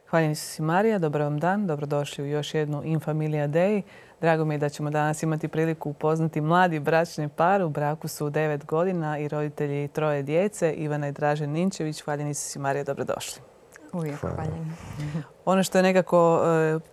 Hvala Isusi Marija, dobar vam dan, dobrodošli u još jednu In Familia Dei. Drago mi je da ćemo danas imati priliku upoznati mladi bračni par. U braku su 9 godina i roditelji 3 djece, Ivana i Dražen Ninčević. Hvala Isusi Marija, dobrodošli. Uvijek hvaljen. Ono što je nekako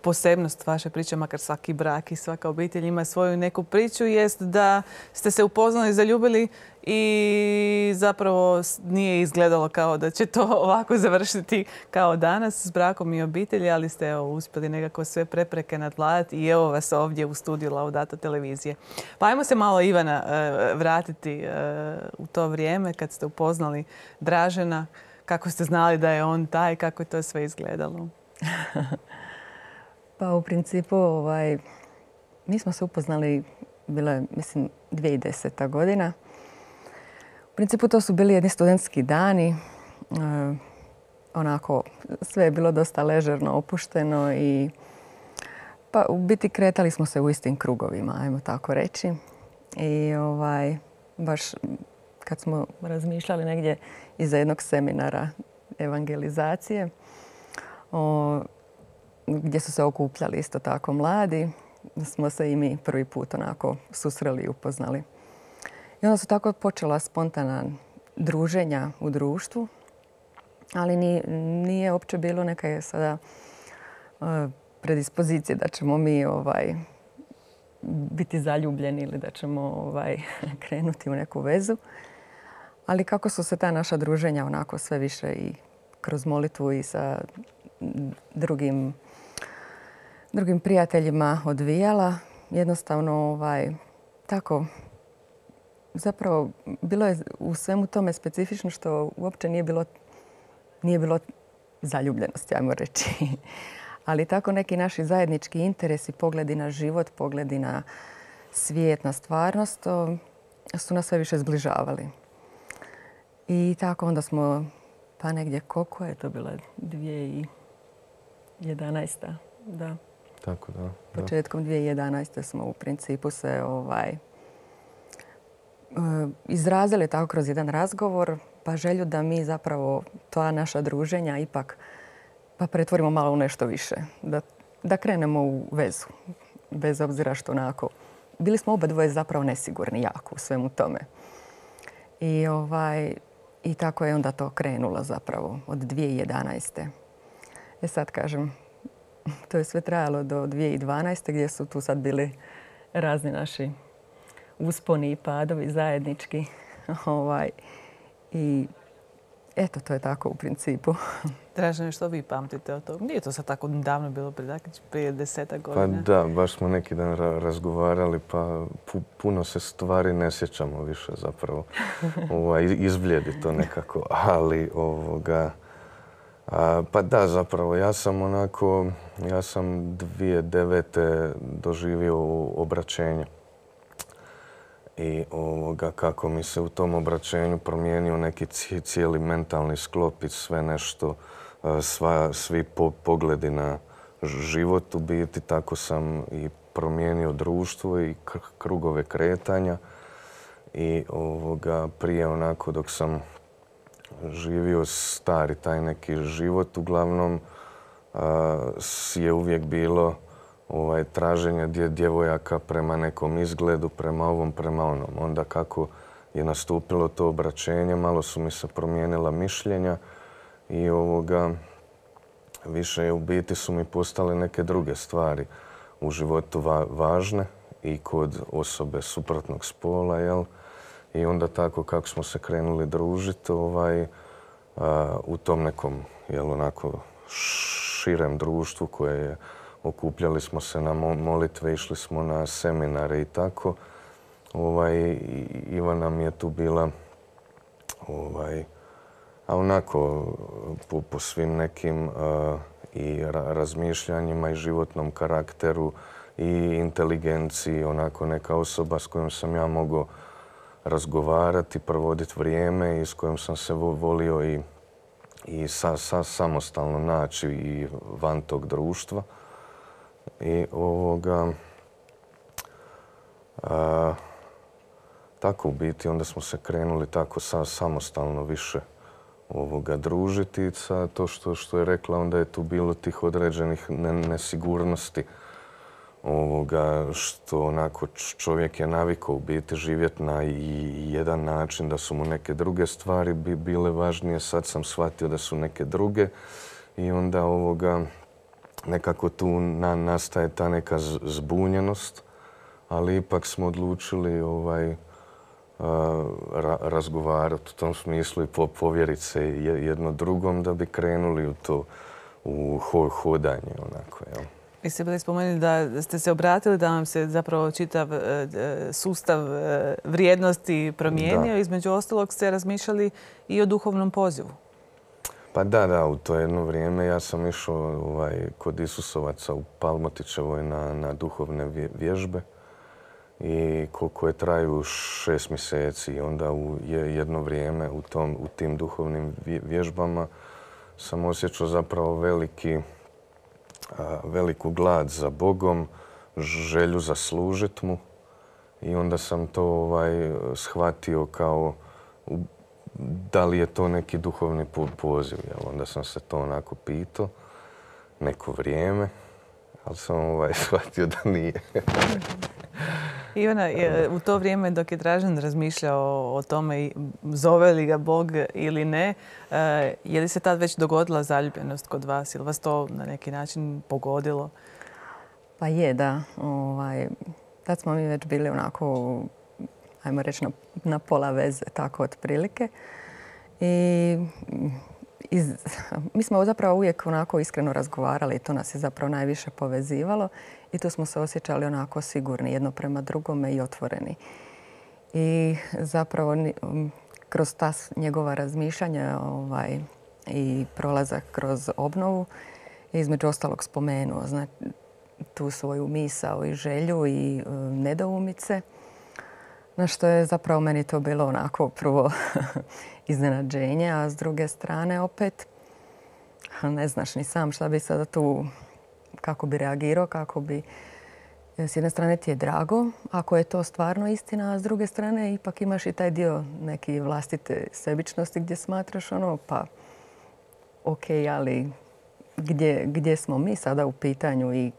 posebnost vaše priče, makar svaki brak i svaka obitelj ima svoju neku priču, jest da ste se upoznali, zaljubili i zapravo nije izgledalo kao da će to ovako završiti kao danas s brakom i obitelji, ali ste uspjeli nekako sve prepreke nadvladati i evo vas ovdje u studiju Laudato televizije. Pa ajmo se malo, Ivana, vratiti u to vrijeme kad ste upoznali Dražena. Kako ste znali da je on taj, kako je to sve izgledalo? Pa u principu mi smo se upoznali, bilo je mislim 2010. godina. U principu to su bili jedni studentski dani. Onako sve je bilo dosta ležerno, opušteno i pa u biti kretali smo se u istim krugovima, ajmo tako reći. I baš kad smo razmišljali negdje iza jednog seminara evangelizacije, gdje su se okupljali isto tako mladi, smo se i mi prvi put onako susreli i upoznali. I onda su tako počela spontana druženja u društvu, ali nije uopće bilo neke sada predispozicije da ćemo mi biti zaljubljeni ili da ćemo krenuti u neku vezu. Ali kako su se ta naša druženja onako sve više i kroz molitvu i sa drugim prijateljima odvijala, jednostavno tako zapravo bilo je u svemu tome specifično što uopće nije bilo zaljubljenosti, ajmo reći. Ali tako neki naši zajednički interesi, pogledi na život, pogledi na svijet, na stvarnost, su nas sve više zbližavali. I tako onda smo, pa negdje koliko je to bilo, 2011. Da. Tako, da. Početkom 2011. smo u principu se izrazili tako kroz jedan razgovor, pa želju da mi zapravo ta naša druženja ipak pa pretvorimo malo u nešto više. Da krenemo u vezu. Bez obzira što onako. Bili smo oba dvoje zapravo nesigurni jako u svemu tome. I tako je onda to krenulo zapravo od 2011. Sad kažem, to je sve trajalo do 2012. gdje su tu sad bili razni naši usponi i padovi zajednički. I eto, to je tako u principu. Dražene, što vi pamtite od toga? Nije to sad tako davno bilo, prije 10 godina? Pa da, baš smo neki dan razgovarali, pa puno se stvari ne sjećamo više zapravo. Izbljedi to nekako, ali pa da, zapravo, ja sam 2009. doživio obraćenje. I kako mi se u tom obraćenju promijenio neki cijeli mentalni sklop i sve nešto, svi pogledi na život u biti, tako sam i promijenio društvo i krugove kretanja. I prije onako dok sam živio stari taj neki život, uglavnom je uvijek bilo traženje djevojaka prema nekom izgledu, prema ovom, prema onom. Onda kako je nastupilo to obraćenje, malo su mi se promijenila mišljenja i više u biti su mi postale neke druge stvari u životu važne i kod osobe suprotnog spola, jel? I onda tako kako smo se krenuli družiti u tom nekom, jel, onako širem društvu koje je okupljali smo se na molitve, išli smo na seminare i tako. Ivana mi je tu bila onako po svim nekim i razmišljanjima i životnom karakteru i inteligenciji, onako neka osoba s kojom sam ja mogao razgovarati, provoditi vrijeme i s kojom sam se volio i samostalno naći i van tog društva. I tako u biti onda smo se krenuli tako samostalno više družiti. Sa to što je rekla, onda je tu bilo tih određenih nesigurnosti. Što onako čovjek je navikao u biti živjeti na jedan način, da su mu neke druge stvari bile važnije. Sad sam shvatio da su neke druge i onda nekako tu nastaje ta neka zbunjenost, ali ipak smo odlučili razgovarati u tom smislu i povjeriti se jedno drugom da bi krenuli u to u hodanje onako, jel? Vi ste bili spomenuli da ste se obratili da vam se zapravo čitav sustav vrijednosti promijenio. Da. Između ostalog ste razmišljali i o duhovnom pozivu. Pa da, u to jedno vrijeme ja sam išao kod Isusovaca u Palmotićevoj na duhovne vježbe i koje traju 6 mjeseci. I onda u jedno vrijeme u tim duhovnim vježbama sam osjećao zapravo veliku glad za Bogom, želju za služit mu i onda sam to shvatio kao da li je to neki duhovni poziv. Onda sam se to onako pitao neko vrijeme, ali sam shvatio da nije. Ivana, u to vrijeme dok je Dražen razmišljao o tome zove li ga Bog ili ne, je li se tad već dogodila zaljubljenost kod vas? Je li vas to na neki način pogodilo? Pa je, da. Tad smo mi već bili onako, ajmo reći, na pola veze, tako otprilike. I mi smo zapravo uvijek onako iskreno razgovarali i to nas je zapravo najviše povezivalo i tu smo se osjećali onako sigurni jedno prema drugome i otvoreni. I zapravo kroz ta njegova razmišljanja i prolazak kroz obnovu je između ostalog spomenuo tu svoju misao i želju i nedoumice. Na što je zapravo meni to bilo onako prvo iznenađenje, a s druge strane opet ne znaš ni sam šta bi sada tu, kako bi reagirao, kako bi... S jedne strane ti je drago ako je to stvarno istina, a s druge strane ipak imaš i taj dio neke vlastite sebičnosti gdje smatraš pa ok, ali gdje smo mi sada u pitanju i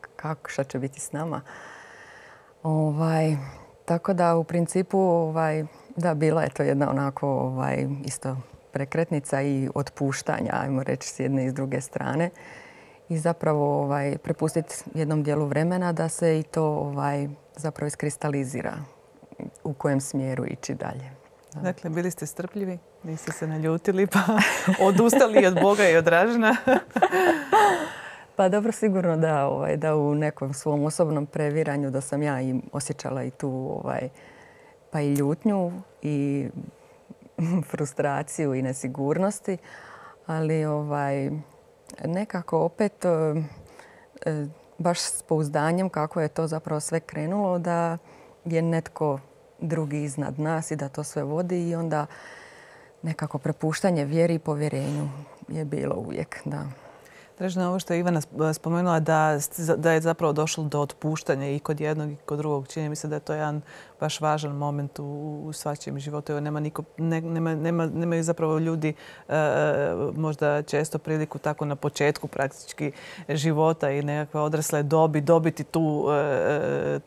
šta će biti s nama. Tako da u principu da, bila je to jedna onako isto prekretnica i otpuštanja, ajmo reći, s jedne i s druge strane. I zapravo prepustiti jednom dijelu vremena da se i to zapravo iskristalizira u kojem smjeru ići dalje. Da. Dakle, bili ste strpljivi, niste se naljutili pa odustali od Boga i od Dražena. Pa dobro, sigurno da u nekom svom osobnom previranju da sam ja i osjećala i tu pa i ljutnju i frustraciju i nesigurnosti, ali nekako opet baš s pouzdanjem kako je to zapravo sve krenulo, da je netko drugi iznad nas i da to sve vodi i onda nekako prepuštanje vjeri i povjerenju je bilo uvijek, da. Dražena, ovo što je Ivana spomenula da je zapravo došlo do otpuštanja i kod jednog i kod drugog. Čini mi se da je to jedan baš važan moment u svačijem životu. Nemaju zapravo ljudi možda često priliku tako na početku praktički života i nekakve odrasle dobi dobiti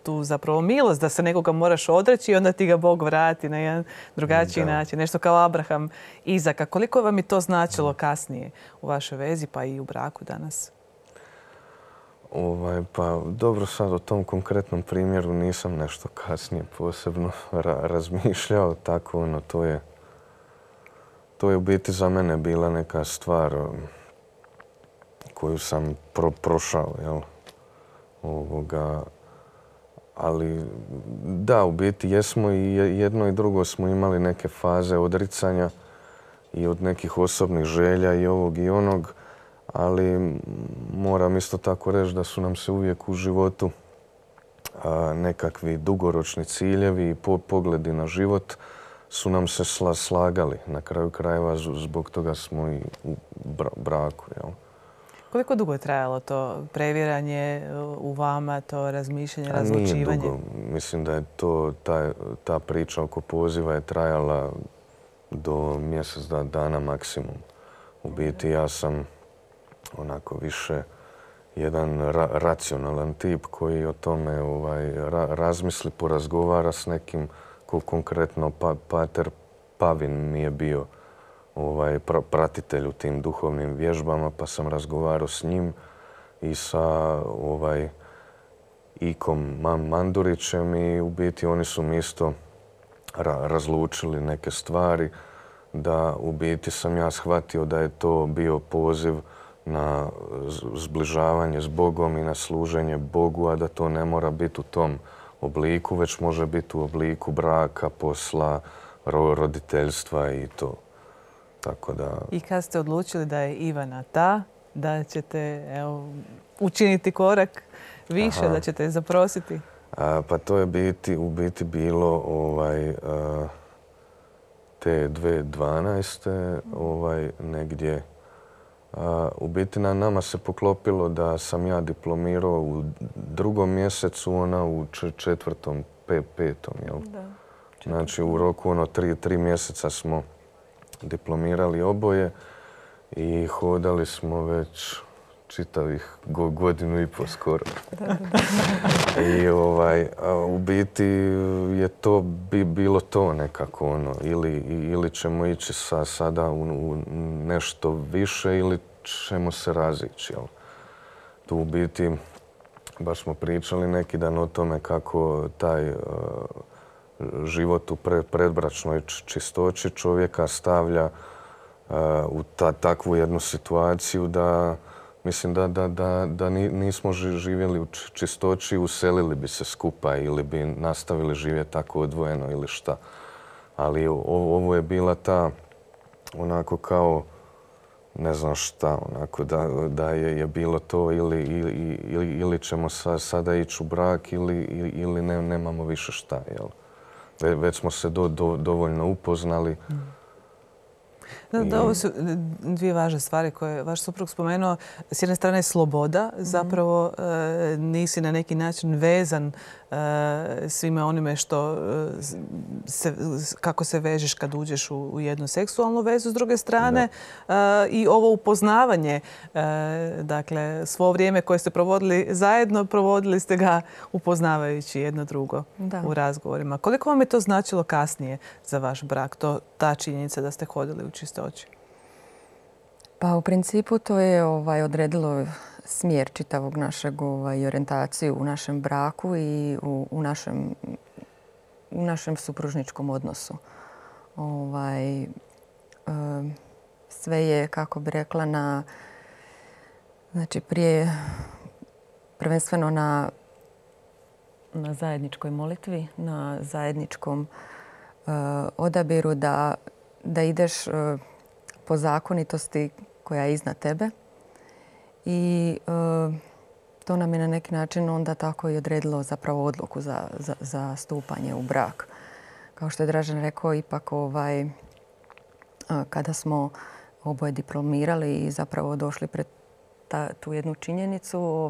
tu zapravo milost da se nekoga moraš odreći i onda ti ga Bog vrati na jedan drugačiji način. Nešto kao Abraham, Izaka. Koliko vam je to značilo kasnije u vašoj vezi pa i u braku danas? Pa dobro, sad o tom konkretnom primjeru nisam nešto kasnije posebno razmišljao. Tako, to je u biti za mene bila neka stvar koju sam prošao, jel? Ali da, u biti jesmo i jedno i drugo smo imali neke faze odricanja i od nekih osobnih želja i ovog i onog. Ali moram isto tako reći da su nam se uvijek u životu nekakvi dugoročni ciljevi i pogledi na život su nam se slagali. Na kraju krajeva zbog toga smo i u braku. Jel? Koliko dugo je trajalo to previranje u vama, to razmišljanje, razlučivanje? Nije dugo. Mislim da je ta priča oko poziva je trajala do mjesec dana maksimum. U biti ja sam onako više jedan racionalan tip koji o tome razmisli, porazgovara s nekim ko konkretno pater Pavin mi je bio pratitelj u tim duhovnim vježbama, pa sam razgovarao s njim i sa Ikom Mandurićem i u biti oni su mi isto razlučili neke stvari, da u biti sam ja shvatio da je to bio poziv na zbližavanje s Bogom i na služenje Bogu, a da to ne mora biti u tom obliku, već može biti u obliku braka, posla, roditeljstva i to. Tako da... I kad ste odlučili da je Ivana ta, da ćete učiniti korak više, da ćete je zaprositi? Pa to je u biti bilo te 2012. Negdje. U biti na nama se poklopilo da sam ja diplomirao u 2. mjesecu, ona u 4., 5. Jel? Da. Znači u roku 3 mjeseca smo diplomirali oboje i hodali smo već čitavih 1,5 godinu skoro. I u biti je to bilo to nekako ili ćemo ići sada u nešto više ili ćemo se razići. Jel? Tu u biti baš smo pričali neki dan o tome kako taj život u predbračnoj čistoći čovjeka stavlja u takvu jednu situaciju da mislim da nismo živjeli u čistoći, uselili bi se skupa ili bi nastavili živjeti tako odvojeno ili šta. Ali ovo je bila ta onako kao ne znam šta, onako da je bilo to ili ćemo sada ići u brak ili nemamo više šta. Jel? Već smo se dovoljno upoznali. Da, ovo su dvije važne stvari koje vaš suprug spomenuo. S jedne strane je sloboda. Zapravo nisi na neki način vezan svime onime kako se vežeš kad uđeš u jednu seksualnu vezu. S druge strane i ovo upoznavanje, dakle svo vrijeme koje ste provodili zajedno, provodili ste ga upoznavajući jedno drugo u razgovorima. Koliko vam je to značilo kasnije za vaš brak, ta činjenica da ste hodili u čistoći? Pa u principu to je odredilo smjer čitavog našeg i orijentaciju u našem braku i u našem supružničkom odnosu. Sve je, kako bi rekla, znači prije prvenstveno na zajedničkoj molitvi, na zajedničkom odabiru da ideš po zakonitosti koja je iznad tebe. I to nam je na neki način onda tako i odredilo zapravo odluku za stupanje u brak. Kao što je Dražen rekao, ipak kada smo oboje diplomirali i zapravo došli pred tu jednu činjenicu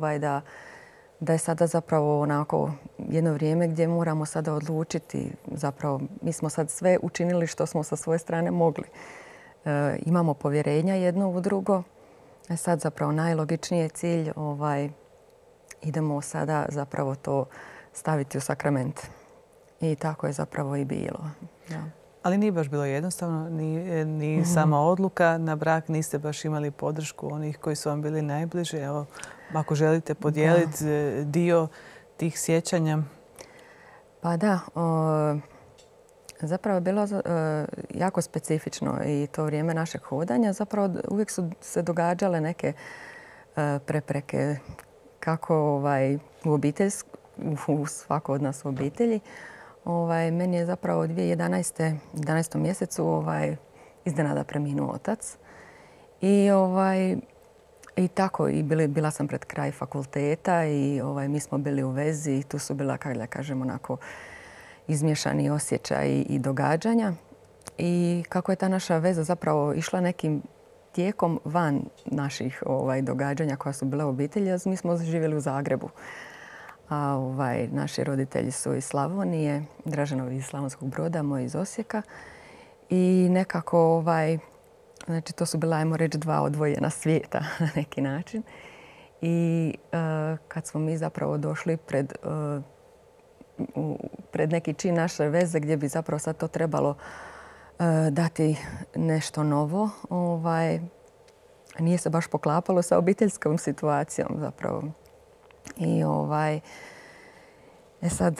da je sada zapravo onako jedno vrijeme gdje moramo sada odlučiti. Zapravo mi smo sad sve učinili što smo sa svoje strane mogli. Imamo povjerenja jedno u drugo. Sad zapravo najlogičniji je cilj idemo sada zapravo to staviti u sakrament. I tako je zapravo i bilo. Ja. Ali nije baš bilo jednostavno, ni sama odluka na brak, niste baš imali podršku onih koji su vam bili najbliži. Evo, ako želite podijeliti dio tih sjećanja. Pa da, zapravo je bilo jako specifično i to vrijeme našeg hodanja. Zapravo uvijek su se događale neke prepreke kako u svako od nas u obitelji. Meni je zapravo 2011. mjesecu iznenada preminuo otac. I tako, bila sam pred kraj fakulteta i mi smo bili u vezi i tu su bila, kako da kažem, onako izmiješani osjećaji i događanja. I kako je ta naša veza zapravo išla nekim tijekom van naših događanja koja su bila u obitelji. Mi smo živjeli u Zagrebu. A naši roditelji su iz Slavonije, Draženovi iz Slavonskog Broda, moj iz Osijeka. I nekako, znači to su bila, ajmo reći, dva odvojena svijeta na neki način. I kad smo mi zapravo došli pred neki čin naše veze gdje bi zapravo sad to trebalo dati nešto novo, nije se baš poklapalo sa obiteljskom situacijom zapravo. I sad,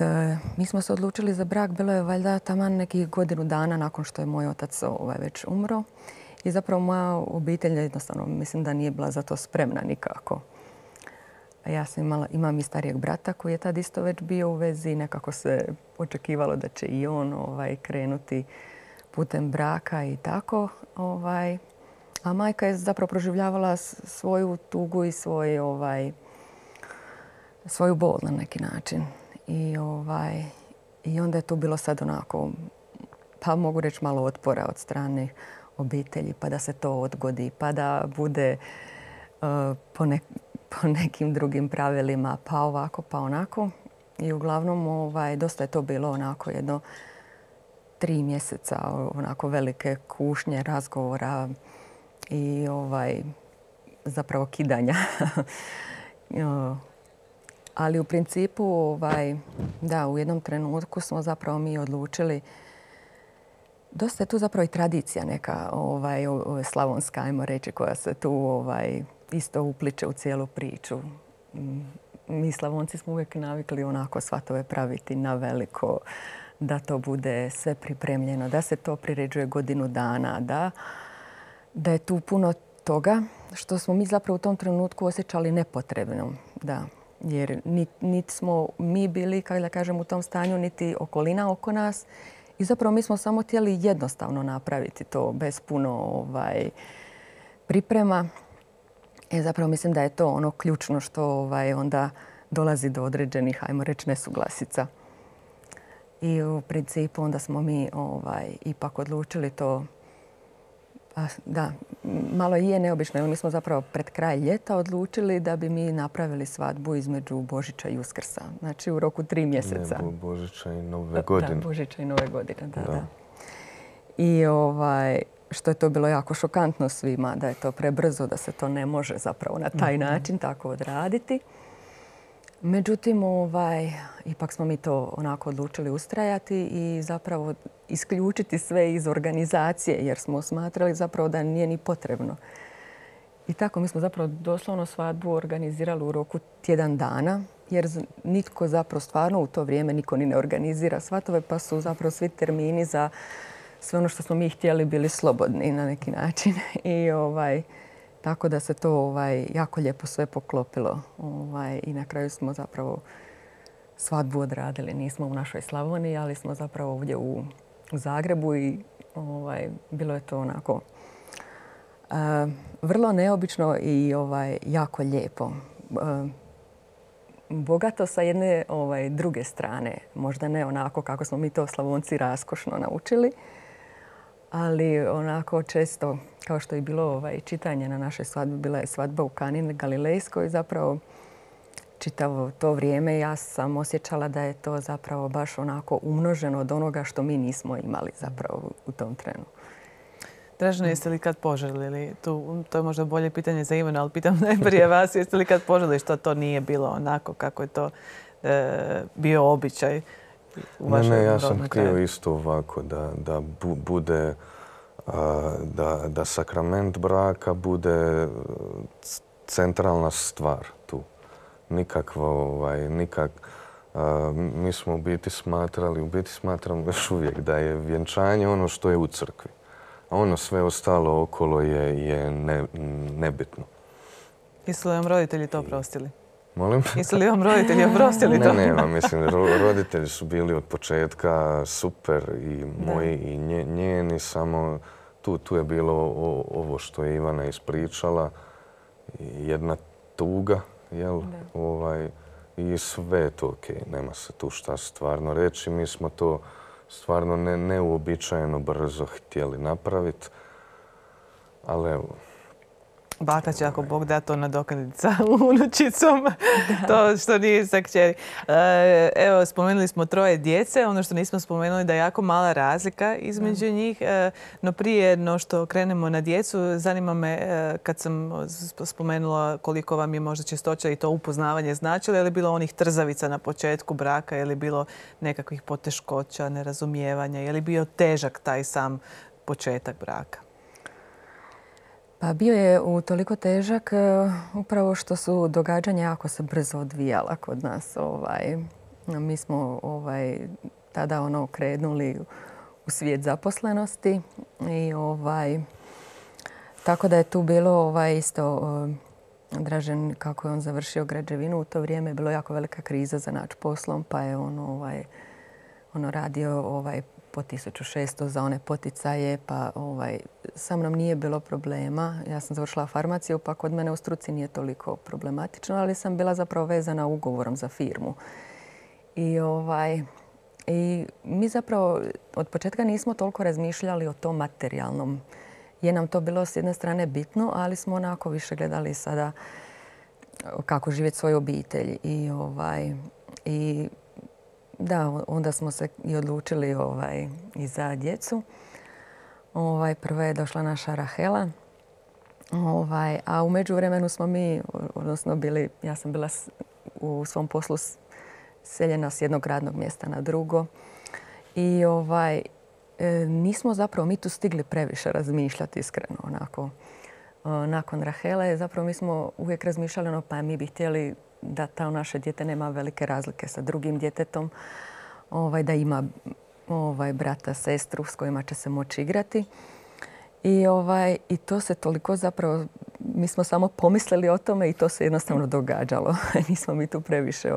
mi smo se odlučili za brak, bilo je valjda taman nekih godinu dana nakon što je moj otac već umro. I zapravo moja obitelj jednostavno mislim da nije bila za to spremna nikako. Ja sam imam i starijeg brata koji je tad isto već bio u vezi. Nekako se očekivalo da će i on krenuti putem braka i tako. A majka je zapravo proživljavala svoju tugu i svoju bol na neki način. I onda je tu bilo sad onako, pa mogu reći malo otpora od strane obitelji, pa da se to odgodi, pa da bude po nekim drugim pravilima, pa ovako, pa onako. I uglavnom dosta je to bilo onako jedno 3 mjeseca onako velike kušnje, razgovora i zapravo kidanja. Ali u principu, da, u jednom trenutku smo zapravo mi odlučili, dosta je tu zapravo i tradicija neka slavonska, ajmo reći, koja se tu isto upliče u cijelu priču. Mi Slavonci smo uvijek navikli onako svatove praviti na veliko, da to bude sve pripremljeno, da se to priređuje godinu dana, da je tu puno toga što smo mi zapravo u tom trenutku osjećali nepotrebno. Da. Jer niti smo mi bili, kako da kažem, u tom stanju, niti okolina oko nas. I zapravo mi smo samo htjeli jednostavno napraviti to bez puno priprema. Zapravo mislim da je to ono ključno što onda dolazi do određenih, ajmo reći, nesuglasica. I u principu onda smo mi ipak odlučili to. Da, malo je neobično, jer mi smo zapravo pred kraj ljeta odlučili da bi mi napravili svadbu između Božića i Uskrsa. Znači u roku 3 mjeseca. Ne, Božića i Nove godine. Da, Božića i Nove godine, da. I što je to bilo jako šokantno svima, da je to prebrzo, da se to ne može zapravo na taj način tako odraditi. Međutim, ipak smo mi to onako odlučili ustrajati i zapravo isključiti sve iz organizacije jer smo smatrali zapravo da nije ni potrebno. I tako mi smo zapravo doslovno svadbu organizirali u roku tjedan dana jer nitko zapravo stvarno u to vrijeme niko ni ne organizira svatove pa su zapravo svi termini za sve ono što smo mi htjeli bili slobodni na neki način. I tako da se to jako lijepo sve poklopilo. I na kraju smo zapravo svadbu odradili. Nismo u našoj Slavoniji, ali smo zapravo ovdje u Zagrebu i bilo je to onako vrlo neobično i jako lijepo. Bogato sa jedne druge strane. Možda ne onako kako smo mi to Slavonci raskošno naučili, ali onako često, kao što je bilo čitanje na našoj svadbi, bila je svadba u Kani Galilejskoj. Zapravo čitavo to vrijeme ja sam osjećala da je to zapravo baš onako umnoženo od onoga što mi nismo imali zapravo u tom trenu. Dražena, jeste li kad poželili? To je možda bolje pitanje za Ivana, ali pitam najprije vas. Jeste li kad poželili što to nije bilo onako kako je to bio običaj? Ne, ja sam htio isto ovako da bude, da sakrament braka bude centralna stvar tu. Mi smo u biti smatram još uvijek da je vjenčanje ono što je u crkvi. A ono sve ostalo okolo je nebitno. Jesu li vam roditelji to oprostili? Molim? Jesu li vam roditelji oprostili to? Ne, mislim, roditelji su bili od početka super i moji i njeni, samo tu je bilo ovo što je Ivana ispričala, jedna tuga, jel? I sve je to okej, nema se tu šta stvarno reći. Mi smo to stvarno neuobičajeno brzo htjeli napraviti, ali evo, Baka će, ako Bog da, to nadoknaditi sa unučicom, to što nije sa kćeri. Evo, spomenuli smo 3 djece. Ono što nismo spomenuli da je jako mala razlika između njih. No prije no što krenemo na djecu, zanima me kad sam spomenula koliko vam je možda čistoća i to upoznavanje značilo. Je li bilo onih trzavica na početku braka? Je li bilo nekakvih poteškoća, nerazumijevanja? Je li bio težak taj sam početak braka? Pa bio je utoliko težak upravo što su događanja jako se brzo odvijala kod nas. Mi smo tada krenuli u svijet zaposlenosti i tako da je tu bilo isto Dražen, kako je on završio građevinu, u to vrijeme je bilo jako velika kriza za naći poslom, pa je on radio po 1600 za one poticaje, pa sa mnom nije bilo problema. Ja sam završila farmaciju, pa kod mene u struci nije toliko problematično, ali sam bila zapravo vezana ugovorom za firmu. I mi zapravo od početka nismo toliko razmišljali o tom materijalnom. Je nam to bilo s jedne strane bitno, ali smo onako više gledali sada kako živjeti svoju obitelj. I da, onda smo se i odlučili i za djecu. Prvo je došla naša Rahela. A u međuvremenu smo mi, odnosno ja sam bila u svom poslu seljena s jednog radnog mjesta na drugo. I nismo zapravo mi tu stigli previše razmišljati iskreno. Nakon Rahele zapravo mi smo uvijek razmišljali pa mi bi htjeli da to naše dijete nema velike razlike sa drugim djetetom, da ima brata, sestru s kojima će se moći igrati. I to se toliko zapravo, mi smo samo pomislili o tome i to se jednostavno događalo. Nismo mi tu previše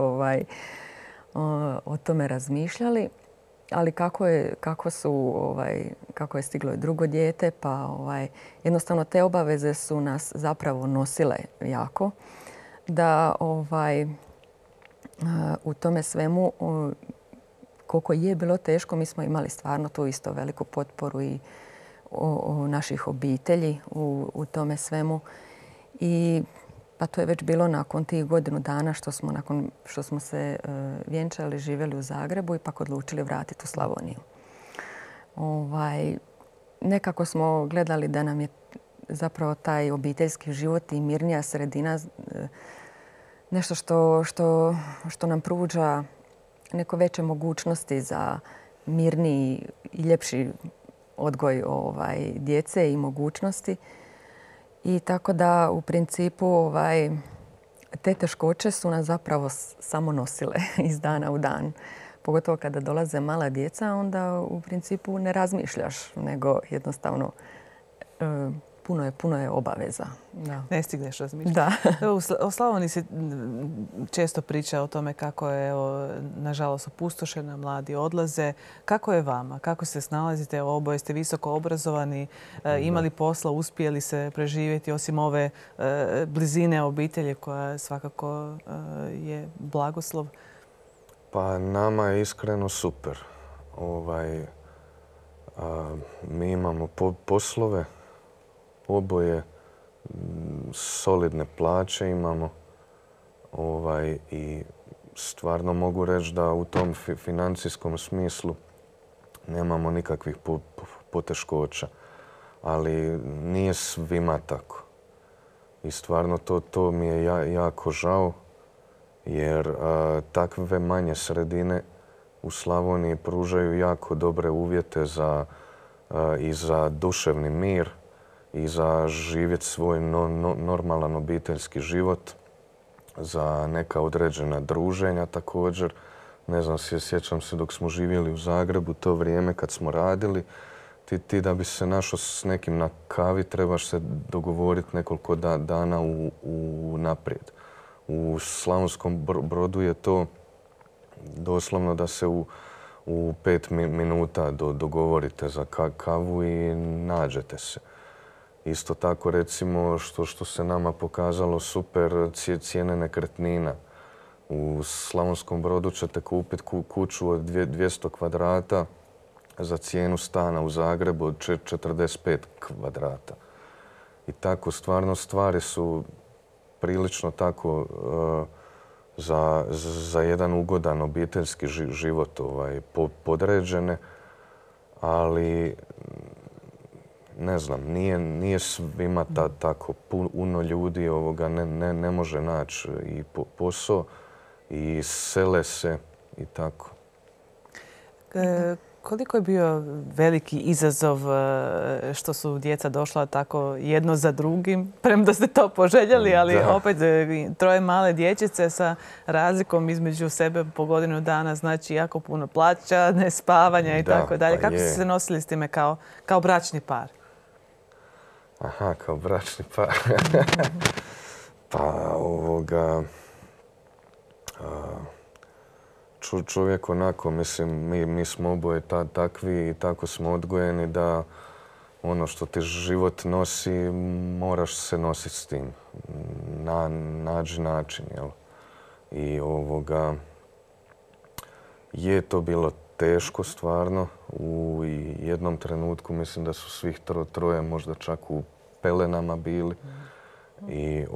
o tome razmišljali. Ali kako je stiglo drugo dijete, pa jednostavno te obaveze su nas zapravo nosile jako. Da u tome svemu, koliko je bilo teško, mi smo imali stvarno tu isto veliku potporu i naših obitelji u tome svemu. I pa to je već bilo nakon tih godinu dana nakon što smo se vjenčali, živjeli u Zagrebu i pak odlučili vratiti u Slavoniju. Nekako smo gledali da nam je zapravo taj obiteljski život i mirnija sredina nešto što nam pruža neko veće mogućnosti za mirniji i ljepši odgoj djece i mogućnosti. I tako da u principu te teškoće su nas zapravo samo nosile iz dana u dan. Pogotovo kada dolaze mala djeca, onda u principu ne razmišljaš, nego jednostavno puno je obaveza. Da. Ne stigneš razmišljati. Da. U Slavoniji se često priča o tome kako je, nažalost, opustošena, mladi odlaze. Kako je vama? Kako se snalazite? Oboje ste visoko obrazovani, imali posla, uspjeli se preživjeti osim ove blizine obitelji koja svakako je blagoslov? Pa nama je iskreno super. Mi imamo poslove, oboje solidne plaće imamo i stvarno mogu reći da u tom financijskom smislu nemamo nikakvih poteškoća. Ali nije svima tako. I stvarno to mi je jako žao jer takve manje sredine u Slavoniji pružaju jako dobre uvjete i za duševni mir i za živjeti svoj normalan obiteljski život, za neka određena druženja također. Ne znam, sjećam se dok smo živjeli u Zagrebu, to vrijeme kad smo radili, ti da bi se našao s nekim na kavi trebaš se dogovoriti nekoliko dana naprijed. U Slavonskom Brodu je to doslovno da se u 5 minuta dogovorite za kavu i nađete se. Isto tako, recimo, što se nama pokazalo super, cijene nekretnina. U Slavonskom Brodu ćete kupiti kuću od 200 kvadrata za cijenu stana u Zagrebu od 45 kvadrata. I tako stvarno stvari su prilično tako za jedan ugodan obiteljski život podređene, ali ne znam, nije svima tako. Puno ljudi ne može naći i posao i sele se i tako. Koliko je bio veliki izazov što su djeca došla tako jedno za drugim, premda ste to poželjeli, ali opet troje male dječice sa razlikom između sebe po godinu dana, znači jako puno plaća, nespavanja i tako dalje. Kako ste se nosili s time kao bračni par? Aha, kao bračni par. Pa čovjek onako, mislim, mi smo oboje takvi i tako smo odgojeni da ono što ti život nosi, moraš se nositi s tim. Nađi način, jel? I je to bilo teško stvarno. U jednom trenutku mislim da su svih troje možda čak u pelenama bili. I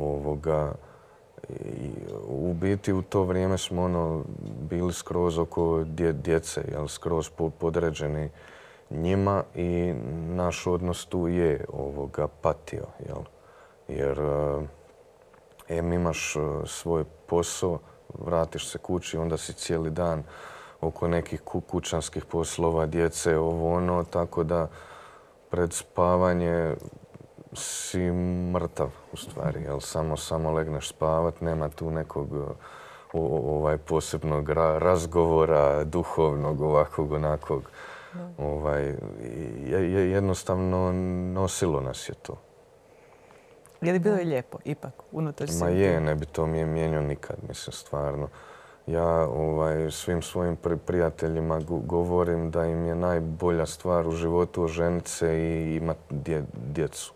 u biti u to vrijeme smo bili skroz oko djece, jel, skroz podređeni njima i naš odnos tu je patio, jel. Jer imaš svoj posao, vratiš se kući, onda si cijeli dan oko nekih kućanskih poslova, djece, tako da pred spavanje si mrtav u stvari, jel? Samo legneš spavat, nema tu nekog posebnog razgovora, duhovnog, ovakvog, onakvog. Jednostavno nosilo nas je to. Je li bilo i lijepo, ipak, unatoč svega? Ma je, ne bi to mijenjao nikad, mislim, stvarno. Ja svim svojim prijateljima govorim da im je najbolja stvar u životu oženiti se i imati djecu.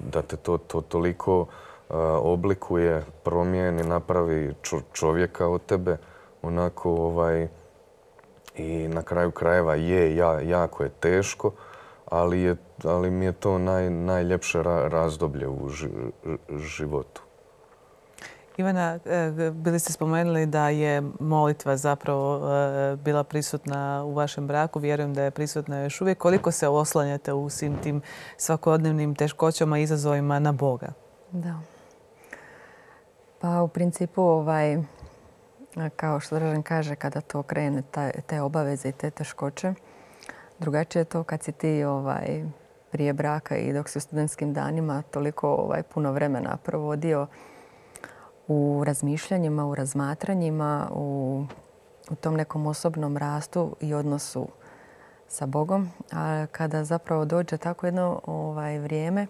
Da te to toliko oblikuje, promijeni, napravi čovjeka od tebe, onako i na kraju krajeva jako je teško, ali mi je to najljepše razdoblje u životu. Ivana, bili ste spomenuli da je molitva zapravo bila prisutna u vašem braku. Vjerujem da je prisutna još uvijek. Koliko se oslanjate u svim tim svakodnevnim teškoćama i izazovima na Boga? Da. Pa u principu, kao što Dražen kaže, kada to krene, te obaveze i te teškoće, drugačije je to kad si ti prije braka i dok si u studentskim danima toliko puno vremena provodio u razmišljanjima, u razmatranjima, u tom nekom osobnom rastu i odnosu sa Bogom. A kada zapravo dođe tako jedno vrijeme,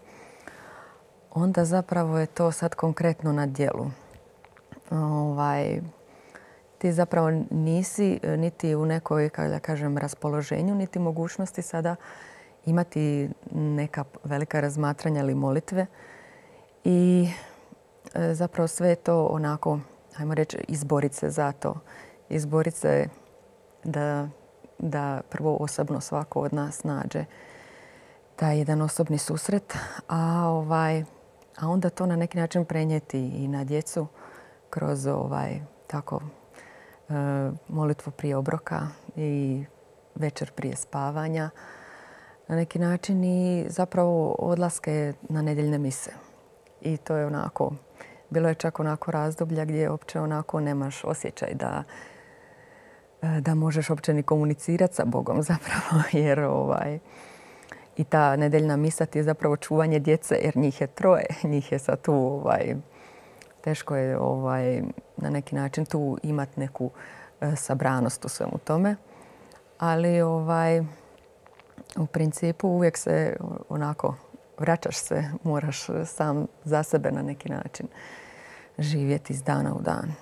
onda zapravo je to sad konkretno na djelu. Ti zapravo nisi niti u nekoj, kako da kažem, raspoloženju, niti mogućnosti sada imati neka velika razmatranja ili molitve. I zapravo sve je to onako, ajmo reći, izboriti se za to. Izboriti se da prvo osobno svako od nas nađe taj jedan osobni susret, a onda to na neki način prenijeti i na djecu kroz tako molitvu prije obroka i večer prije spavanja. Na neki način i zapravo odlaske na nedjeljne mise. I to je onako, bilo je čak onako razdoblja gdje uopće onako nemaš osjećaj da možeš uopće ni komunicirati sa Bogom zapravo. Jer i ta nedjeljna misa ti je zapravo čuvanje djece jer njih je troje. Njih je sad tu, teško je na neki način tu imati neku sabranost u svemu tome. Ali u principu uvijek se onako vraćaš se, moraš sam za sebe na neki način živjeti iz dana u dan.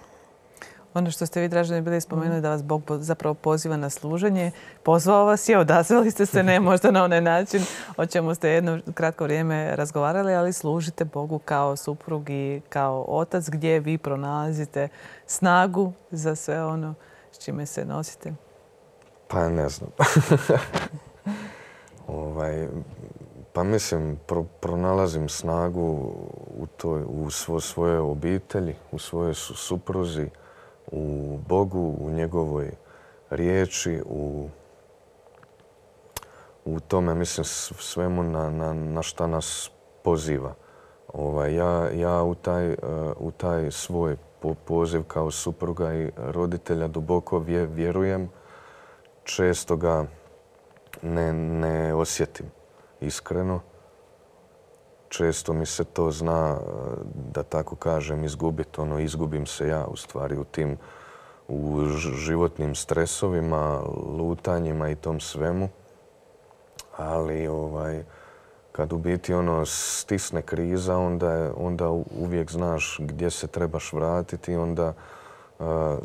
Ono što ste vi, Draženi, bili spomenuli da vas Bog zapravo poziva na služenje. Pozvao vas je, odazvali ste se, ne možda na onaj način o čemu ste jedno kratko vrijeme razgovarali, ali služite Bogu kao suprug i kao otac gdje vi pronalazite snagu za sve ono s čime se nosite. Pa ne znam. Pa mislim, pronalazim snagu u svojoj obitelji, u svojoj supruzi, u Bogu, u njegovoj riječi, u tome, mislim, svemu na šta nas poziva. Ja u taj svoj poziv kao supruga i roditelja duboko vjerujem. Često ga ne osjetim iskreno. Često mi se to zna, da tako kažem, izgubiti. Izgubim se ja u stvari u životnim stresovima, lutanjima i tom svemu. Ali kad u biti stisne kriza, onda uvijek znaš gdje se trebaš vratiti i onda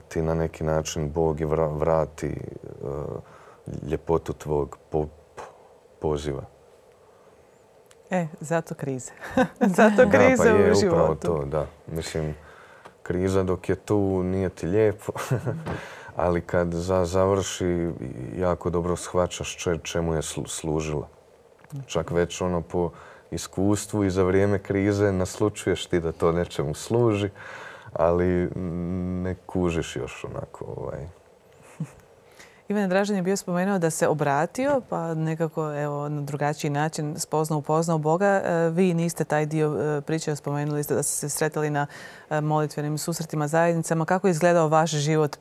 ti na neki način Bog i vrati ljepotu tvog poziva. Zato krize. Zato krize u životu. Upravo to, da. Mislim, kriza dok je tu nije ti lijepo, ali kad završi jako dobro shvaćaš čemu je služila. Čak već po iskustvu i za vrijeme krize naslučuješ ti da to nečemu služi, ali ne kužiš još onako. Ivane Dražen je bio spomenuo da se obratio, pa nekako na drugačiji način upoznao Boga. Vi niste taj dio priče, spomenuli ste da ste se sretali na molitvenim susretima, zajednicama. Kako je izgledao vaš život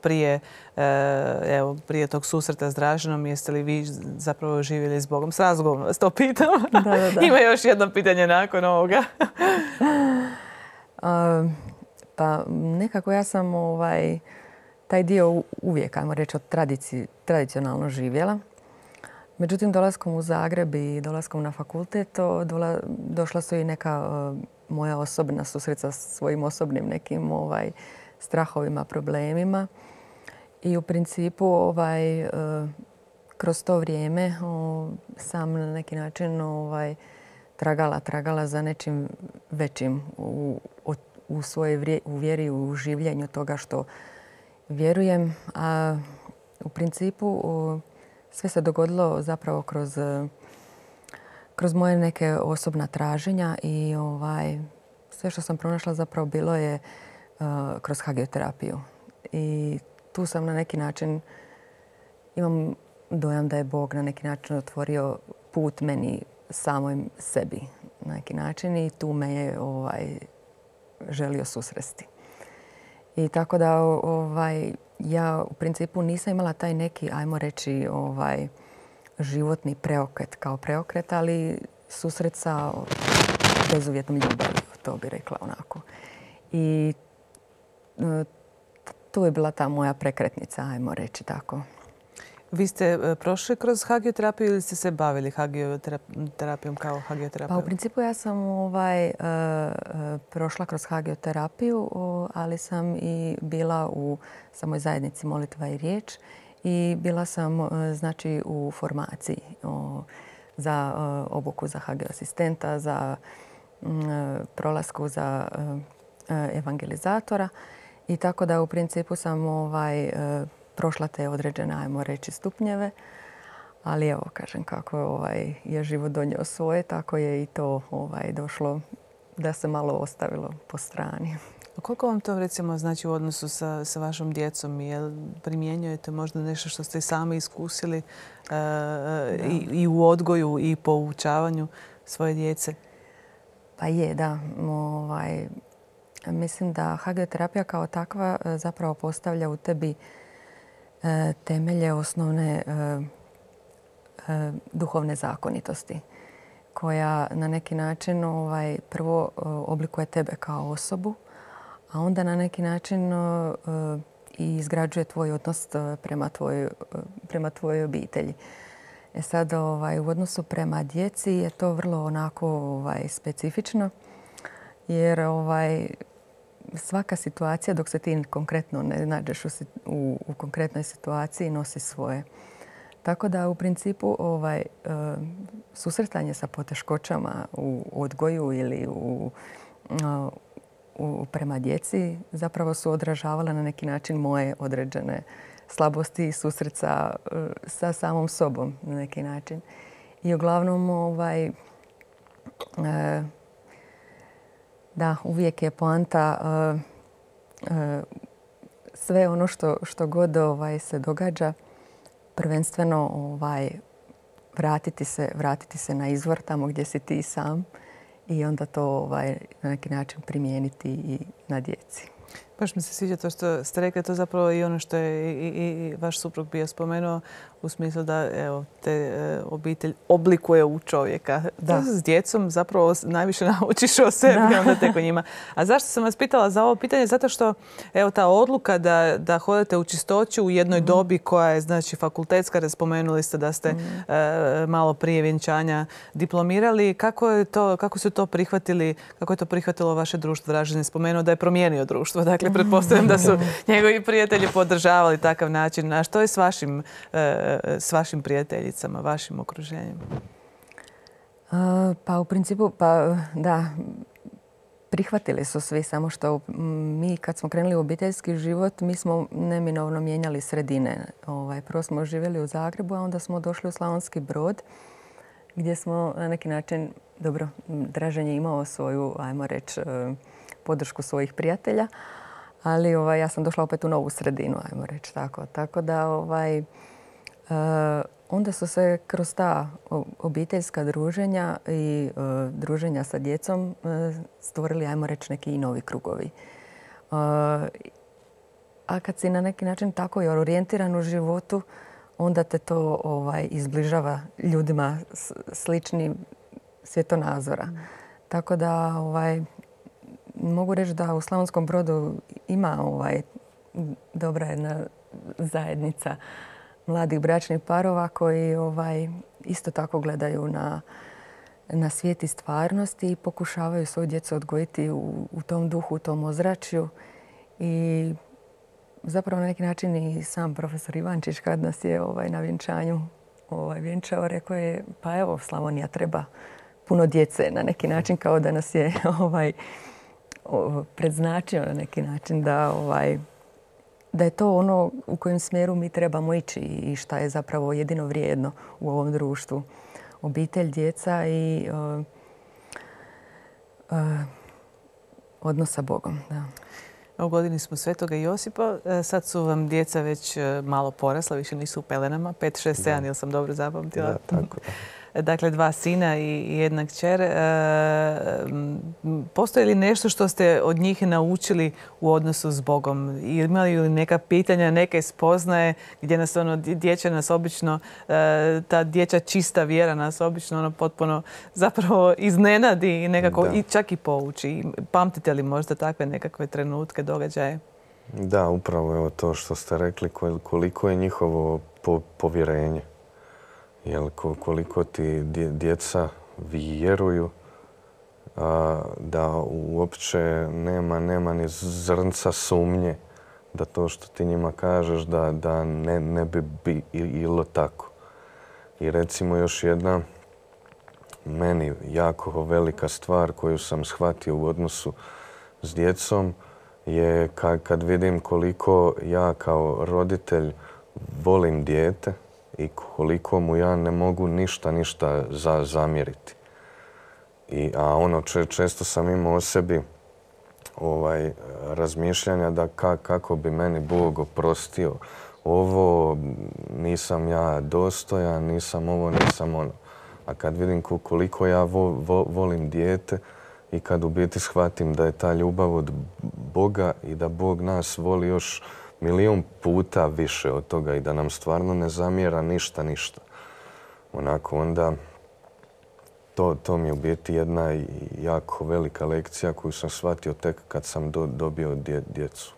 prije tog susreta s Draženom? Jeste li vi zapravo živjeli s Bogom? S razlogom vas to pitam. Da. Ima još jedno pitanje nakon ovoga. Pa nekako ja sam taj dio uvijek, ajmo reći, tradicionalno živjela. Međutim, dolaskom u Zagreb i dolaskom na fakultet došla su i neka moja osobna susret sa svojim osobnim nekim strahovima, problemima. I u principu kroz to vrijeme sam na neki način tragala za nečim većim u svojoj vjeri, u življenju toga što vjerujem, a u principu sve se dogodilo zapravo kroz moje neke osobna traženja i sve što sam pronašla zapravo bilo je kroz hagioterapiju. I tu sam na neki način, imam dojam da je Bog na neki način otvorio put meni samoj sebi na neki način i tu me je želio susresti. I tako da ja u principu nisam imala taj neki, ajmo reći, životni preokret kao preokret, ali susret sa bezuvjetnom ljubavi, to bi rekla onako. I tu je bila ta moja prekretnica, ajmo reći tako. Vi ste prošli kroz hagioterapiju ili ste se bavili hagioterapijom kao hagioterapijom? Pa u principu ja sam prošla kroz hagioterapiju, ali sam i bila u samoj zajednici Molitva i riječ i bila sam znači u formaciji za obuku za hagioasistenta, za prolasku za evangelizatora i tako da u principu sam prošla te određene, ajmo reći, stupnjeve. Ali evo, kažem, kako je život donio svoje, tako je i to došlo da se malo ostavilo po strani. Koliko vam to recimo znači u odnosu sa vašom djecom? Jel primjenjujete možda nešto što ste sami iskusili i u odgoju i poučavanju svoje djece? Pa je, da. Mislim da hagioterapija kao takva zapravo postavlja u tebi temelje osnovne duhovne zakonitosti koja na neki način prvo oblikuje tebe kao osobu, a onda na neki način i izgrađuje tvoj odnos prema tvojoj obitelji. Sad u odnosu prema djeci je to vrlo onako specifično jer svaka situacija dok se ti konkretno ne nađeš u konkretnoj situaciji nosi svoje. Tako da u principu susretanje sa poteškoćama u odgoju ili prema djeci zapravo su odražavala na neki način moje određene slabosti i susret sa samom sobom na neki način. I uglavnom Da, uvijek je poanta sve ono što god se događa, prvenstveno vratiti se na izvor tamo gdje si ti sam i onda to na neki način primijeniti i na djeci. Baš mi se sviđa to što ste rekli, to zapravo i ono što je i vaš suprug bio spomenuo u smislu da te obitelj oblikuje u čovjeka. Da. S djecom zapravo najviše naučiš o sebi, onda tek o njima. A zašto sam vas pitala za ovo pitanje? Zato što ta odluka da hodate u čistoću u jednoj dobi koja je znači fakultetska, jer spomenuli ste da ste malo prije vjenčanja diplomirali. Kako su to prihvatili, kako je to prihvatilo vaše društvo? Dražen je spomenuo da je promijenio društvo. Dakle, pretpostavljam da su njegovi prijatelji podržavali takav način. A što je s vašim prijateljicama, vašim okruženjem? Pa u principu, da, prihvatili su svi, samo što mi kad smo krenuli u obiteljski život, mi smo neminovno mijenjali sredine. Prvo smo živjeli u Zagrebu, a onda smo došli u Slavonski Brod, gdje smo na neki način, dobro, Dražen je imao svoju, ajmo reći, podršku svojih prijatelja, ali ja sam došla opet u novu sredinu, ajmo reći tako. Tako da onda su se kroz ta obiteljska druženja i druženja sa djecom stvorili, ajmo reći, neki i novi krugovi. A kad si na neki način tako i orijentiran u životu, onda te to izbližava ljudima slični svjetonazora. Tako da mogu reći da u Slavonskom Brodu ima dobra jedna zajednica mladih bračnih parova koji isto tako gledaju na svijet i stvarnosti i pokušavaju svoju djecu odgojiti u tom duhu, u tom ozračju. I zapravo na neki način i sam profesor Ivančić kad nas je na vjenčanju vjenčao, rekao je pa evo Slavonija treba puno djece na neki način, kao da nas je predznačio na neki način da je to ono u kojem smjeru mi trebamo ići i šta je zapravo jedino vrijedno u ovom društvu. Obitelj, djeca i odnos sa Bogom. Da. U godini smo Svetoga Josipa. Sad su vam djeca već malo porasla, više nisu u pelenama. 5, 6, 7, jel sam dobro zapamtila? Da, tako. Dakle, 2 sina i jedna kćer. Postoji li nešto što ste od njih naučili u odnosu s Bogom? Imali li neka pitanja, neke spoznaje gdje nas dječja nas obično, ta dječja čista vjera nas obično potpuno zapravo iznenadi i nekako i čak i pouči. Pamtite li možda takve nekakve trenutke, događaje? Da, upravo evo to što ste rekli, koliko je njihovo povjerenje. Jer koliko ti djeca vjeruju da uopće nema ni zrnca sumnje da to što ti njima kažeš da ne bi bilo tako. I recimo još jedna meni jako velika stvar koju sam shvatio u odnosu s djecom je kad vidim koliko ja kao roditelj volim dijete i koliko mu ja ne mogu ništa zamjeriti. A ono često sam imao o sebi razmišljanja da kako bi meni Bog oprostio ovo, nisam ja dostojan, nisam ovo, nisam ono. A kad vidim koliko ja volim dijete i kad u biti shvatim da je ta ljubav od Boga i da Bog nas voli još milijun puta više od toga i da nam stvarno ne zamjera ništa. Onako onda to mi je u biti jedna jako velika lekcija koju sam shvatio tek kad sam dobio djecu.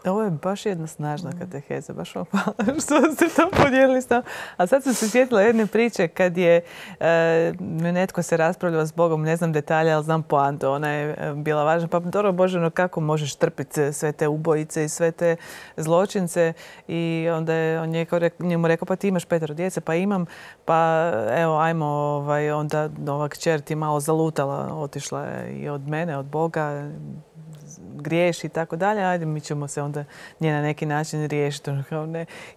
Ovo je baš jedna snažna kateheza, baš vam hvala što ste to podijelili s nama. A sad sam se sjetila jedne priče kad je netko se raspravljao s Bogom, ne znam detalje, ali znam poantu, ona je bila važna. Pa dobro Bože, kako možeš trpiti sve te ubojice i sve te zločince? I onda je on njemu rekao, pa ti imaš 5 djece, pa imam, pa evo, ajmo, onda ova kćer ti malo zalutala, otišla je i od mene, od Boga. griješi i tako dalje, ajde mi ćemo se onda nje na neki način riješiti.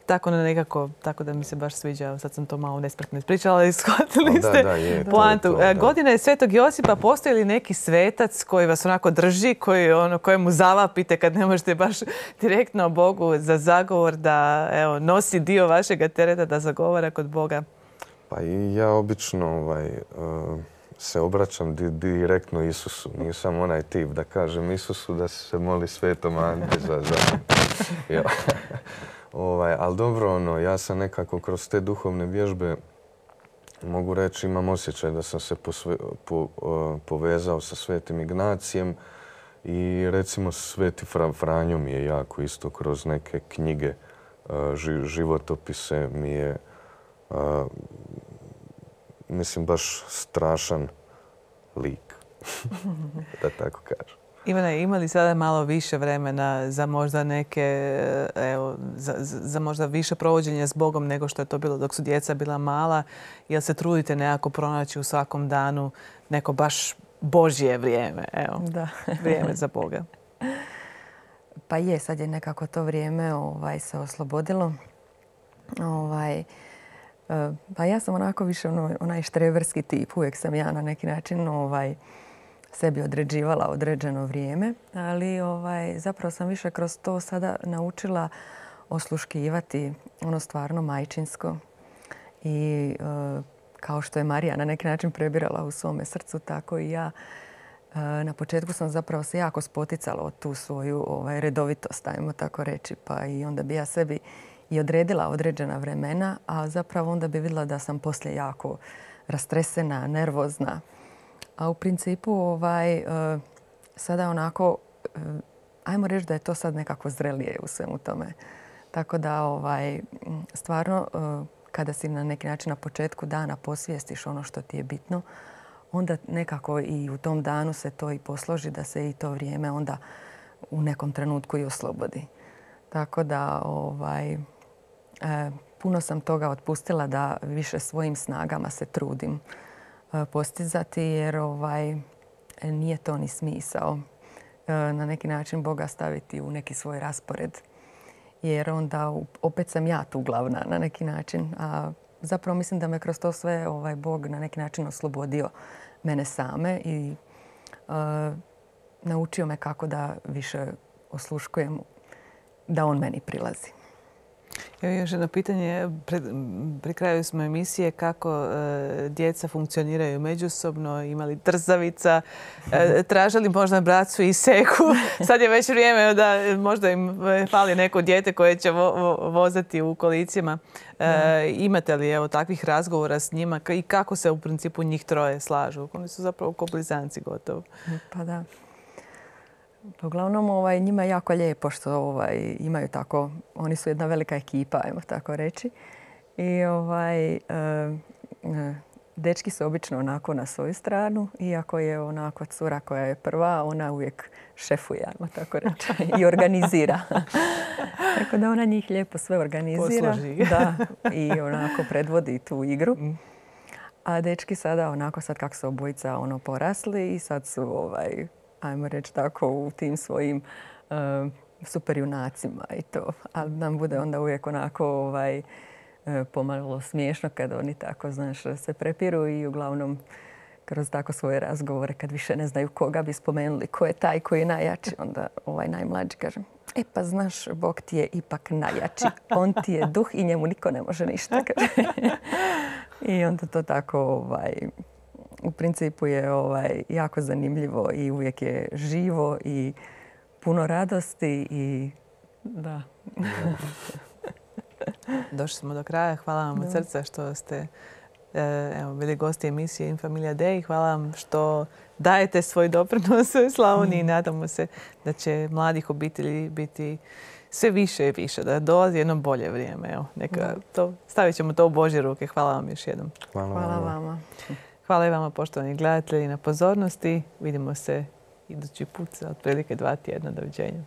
Tako nekako, tako da mi se baš sviđa. Sad sam to malo nespretno ispričala, ali shvatili ste poantu. Godina je Svetog Josipa. Postoji li neki svetac koji vas onako drži, kojemu zavapite kad ne možete baš direktno Bogu za zagovor, da nosi dio vašega tereta, da zagovara kod Boga? Pa i ja obično se obraćam direktno Isusu. Nisam onaj tip da kažem Isusu da se moli Svetom Anti za ali dobro, ja sam nekako kroz te duhovne vježbe, mogu reći, imam osjećaj da sam se povezao sa Svetim Ignacijem i recimo Sveti Franjo mi je jako isto kroz neke knjige, životopise mi je mislim baš strašan lik, da tako kažem. Ivane, ima li sada malo više vremena za možda neke, za možda više provođenja s Bogom nego što je to bilo dok su djeca bila mala? Jel se trudite nekako pronaći u svakom danu neko baš Božje vrijeme? Da. Vrijeme za Boga. Pa je, sad je nekako to vrijeme se oslobodilo. Pa ja sam onako više onaj štreberski tip. Uvijek sam ja na neki način sebi određivala određeno vrijeme, ali zapravo sam više kroz to sada naučila osluškivati ono stvarno majčinsko. I kao što je Marija na neki način prebirala u svome srcu, tako i ja. Na početku sam zapravo se jako spoticala od tu svoju redovitost, ajmo tako reći, pa i onda bi ja sebi i odredila određena vremena, a zapravo onda bi vidjela da sam poslije jako rastresena, nervozna. A u principu sada onako, ajmo reći da je to sad nekako zrelije u svemu tome. Tako da stvarno kada si na neki način na početku dana posvijestiš ono što ti je bitno, onda nekako i u tom danu se to i posloži da se i to vrijeme onda u nekom trenutku i oslobodi. Tako da puno sam toga otpustila da više svojim snagama se trudim postizati, jer nije to ni smisao na neki način Boga staviti u neki svoj raspored. Jer onda opet sam ja tu glavna na neki način. A zapravo mislim da me kroz to sve Bog na neki način oslobodio mene same i naučio me kako da više osluškujem, da on meni prilazi. Evo još jedno pitanje. Pri kraju smo emisije kako djeca funkcioniraju međusobno, imali trzavica, tražili možda bracu i seku. Sad je već vrijeme da možda im fali neko dijete koje će vozati u kolicima. Imate li takvih razgovora s njima i kako se u principu njih troje slažu? Oni su zapravo ko blizanci gotovo. Pa da. Uglavnom, njima je jako lijepo što imaju tako, oni su jedna velika ekipa, ajmo tako reći. I dečki su obično onako na svoju stranu, iako je onako cura koja je prva, ona uvijek šefuje, ajmo tako reći, i organizira. Tako da ona njih lijepo sve organizira. Posloži. Da, i onako predvodi tu igru. A dečki sada onako, sad kako su obojica porasli i sad su ajmo reći tako, u tim svojim superjunacima i to. Ali nam bude onda uvijek onako pomalo smiješno kad oni tako, znaš, se prepiru i uglavnom kroz tako svoje razgovore kad više ne znaju koga bi spomenuli, ko je taj koji je najjači, onda najmlađi kaže, pa znaš, Bog ti je ipak najjači. On ti je duh i njemu niko ne može ništa. I onda to tako u principu je jako zanimljivo i uvijek je živo i puno radosti i da. Došli smo do kraja. Hvala vam od srca što ste bili gosti emisije In Familia Dei. Hvala vam što dajete svoj doprinos Slavoniji i nadamo se da će mladih obitelji biti sve više i više, da dolazi jedno bolje vrijeme. Stavit ćemo to u Božje ruke. Hvala vam još jednom. Hvala vama. Hvala i vama, poštovani gledatelji, na pozornosti. Vidimo se idući put za otprilike 2 tjedna. Doviđenja.